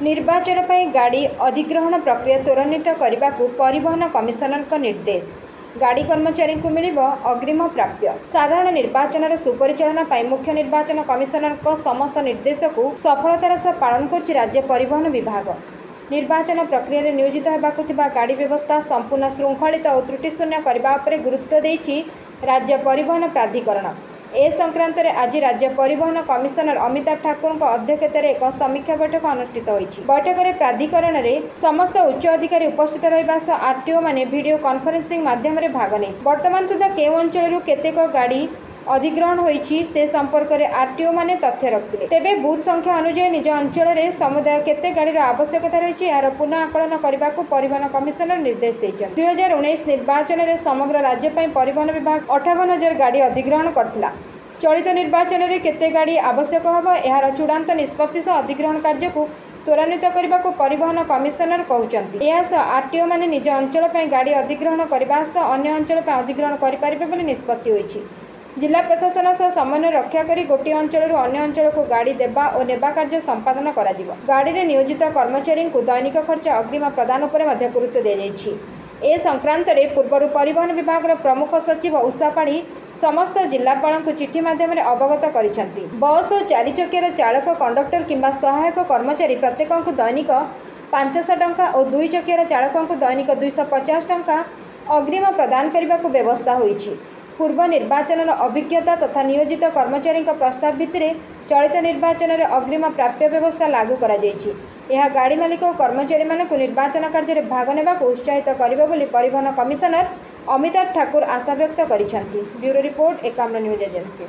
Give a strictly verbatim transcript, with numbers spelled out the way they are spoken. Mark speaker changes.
Speaker 1: ନିର୍ବାଚନ ପାଇଁ ଗାଡ଼ି ଅଧିଗ୍ରହଣ ପ୍ରକ୍ରିୟା ତ୍ୱରାନ୍ୱିତ କରିବାକୁ ପରିବହନ କମିଶନରଙ୍କ ନିର୍ଦ୍ଦେଶ। ଗାଡ଼ି କର୍ମଚାରୀଙ୍କୁ ମିଳିବ ଅଗ୍ରୀମ ପ୍ରାପ୍ୟ। ସାଧାରଣ ନିର୍ବାଚନର ସୁପରିଚାଳନା ପାଇଁ ମୁଖ୍ୟ ନିର୍ବାଚନ କମିଶନରଙ୍କ ସମସ୍ତ ନିର୍ଦ୍ଦେଶକୁ ସଫଳତାର ସହ ପାଳନ କରୁଛି ରାଜ୍ୟ ପରିବହନ ବିଭାଗ। ନିର୍ବାଚନ ପ୍ରକ୍ରିୟାରେ ନିୟୋଜିତ ହେବାକୁ ଥିବା ଗାଡ଼ି ବ୍ୟବସ୍ଥା ସମ୍ପୂର୍ଣ୍ଣ ଶୃଙ୍ଖଳିତ ଓ ତ୍ରୁଟିଶୂନ୍ୟ କରିବା ଉପରେ ଗୁରୁତ୍ୱ ଦେଇଛି ରାଜ୍ୟ ପରିବହନ ପ୍ରାଧିକରଣ। ଏ ସଂକ୍ରାନ୍ତରେ ଆଜି ରାଜ୍ୟ ପରିବହନ କମିଶନର ଅମିତାଭ ଠାକୁରଙ୍କ ଅଧ୍ୟକ୍ଷତାରେ ଏକ ସମୀକ୍ଷା ବୈଠକ ଅନୁଷ୍ଠିତ ହୋଇଛି। ବୈଠକରେ ପ୍ରାଧିକରଣରେ ସମସ୍ତ ଉଚ୍ଚ ଅଧିକାରୀ ଉପସ୍ଥିତ ରହିବା ସହ ଆରଟିଓମାନେ ଭିଡିଓ କନଫରେନ୍ସିଂ ମାଧ୍ୟମରେ ଭାଗ ନେଇଥିଲେ। ବର୍ତ୍ତମାନ ସୁଦ୍ଧା କେଉଁ ଅଞ୍ଚଳରୁ କେତେକ ଗାଡ଼ି ଅଧିଗ୍ରହଣ ହୋଇଛି ସେ ସମ୍ପର୍କରେ ଆରଟିଓମାନେ ତଥ୍ୟ ରଖିଥିଲେ। ତେବେ ବୁଥ୍ ସଂଖ୍ୟା ଅନୁଯାୟୀ ନିଜ ଅଞ୍ଚଳରେ ସମୁଦାୟ କେତେ ଗାଡ଼ିର ଆବଶ୍ୟକତା ରହିଛି, ଏହାର ପୁନଃ ଆକଳନ କରିବାକୁ ପରିବହନ କମିଶନର ନିର୍ଦ୍ଦେଶ ଦେଇଛନ୍ତି। ଦୁଇ ହଜାର ଉଣେଇଶ ନିର୍ବାଚନରେ ସମଗ୍ର ରାଜ୍ୟ ପାଇଁ ପରିବହନ ବିଭାଗ ଅଠାବନ ହଜାର ଗାଡ଼ି ଅଧିଗ୍ରହଣ କରିଥିଲା। ଚଳିତ ନିର୍ବାଚନରେ କେତେ ଗାଡ଼ି ଆବଶ୍ୟକ ହେବ, ଏହାର ଚୂଡ଼ାନ୍ତ ନିଷ୍ପତ୍ତି ସହ ଅଧିଗ୍ରହଣ କାର୍ଯ୍ୟକୁ ତ୍ୱରାନ୍ୱିତ କରିବାକୁ ପରିବହନ କମିଶନର କହୁଛନ୍ତି। ଏହାସହ ଆରଟିଓମାନେ ନିଜ ଅଞ୍ଚଳ ପାଇଁ ଗାଡ଼ି ଅଧିଗ୍ରହଣ କରିବା ସହ ଅନ୍ୟ ଅଞ୍ଚଳ ପାଇଁ ଅଧିଗ୍ରହଣ କରିପାରିବେ ବୋଲି ନିଷ୍ପତ୍ତି ହୋଇଛି। ଜିଲ୍ଲା ପ୍ରଶାସନ ସହ ସମନ୍ୱୟ ରକ୍ଷା କରି ଗୋଟିଏ ଅଞ୍ଚଳରୁ ଅନ୍ୟ ଅଞ୍ଚଳକୁ ଗାଡ଼ି ଦେବା ଓ ନେବା କାର୍ଯ୍ୟ ସମ୍ପାଦନ କରାଯିବ। ଗାଡ଼ିରେ ନିୟୋଜିତ କର୍ମଚାରୀଙ୍କୁ ଦୈନିକ ଖର୍ଚ୍ଚ ଅଗ୍ରୀମ ପ୍ରଦାନ ଉପରେ ମଧ୍ୟ ଗୁରୁତ୍ୱ ଦିଆଯାଇଛି। ଏ ସଂକ୍ରାନ୍ତରେ ପୂର୍ବରୁ ପରିବହନ ବିଭାଗର ପ୍ରମୁଖ ସଚିବ ଉଷା ପାଢ଼ୀ ସମସ୍ତ ଜିଲ୍ଲାପାଳଙ୍କୁ ଚିଠି ମାଧ୍ୟମରେ ଅବଗତ କରିଛନ୍ତି। ବସ୍ ଓ ଚାରିଚକିଆର ଚାଳକ, କଣ୍ଡକ୍ଟର କିମ୍ବା ସହାୟକ କର୍ମଚାରୀ ପ୍ରତ୍ୟେକଙ୍କୁ ଦୈନିକ ପାଞ୍ଚଶହ ଟଙ୍କା ଓ ଦୁଇ ଚକିଆର ଚାଳକଙ୍କୁ ଦୈନିକ ଦୁଇଶହ ପଚାଶ ଟଙ୍କା ଅଗ୍ରୀମ ପ୍ରଦାନ କରିବାକୁ ବ୍ୟବସ୍ଥା ହୋଇଛି। ପୂର୍ବ ନିର୍ବାଚନର ଅଭିଜ୍ଞତା ତଥା ନିୟୋଜିତ କର୍ମଚାରୀଙ୍କ ପ୍ରସ୍ତାବ ଭିତ୍ତିରେ ଚଳିତ ନିର୍ବାଚନରେ ଅଗ୍ରୀମ ପ୍ରାପ୍ୟ ବ୍ୟବସ୍ଥା ଲାଗୁ କରାଯାଇଛି। ଏହା ଗାଡ଼ି ମାଲିକ ଓ କର୍ମଚାରୀମାନଙ୍କୁ ନିର୍ବାଚନ କାର୍ଯ୍ୟରେ ଭାଗ ନେବାକୁ ଉତ୍ସାହିତ କରିବ ବୋଲି ପରିବହନ କମିଶନର ଅମିତାଭ ଠାକୁର ଆଶାବ୍ୟକ୍ତ କରିଛନ୍ତି। Bureau report, Ekamra news agency.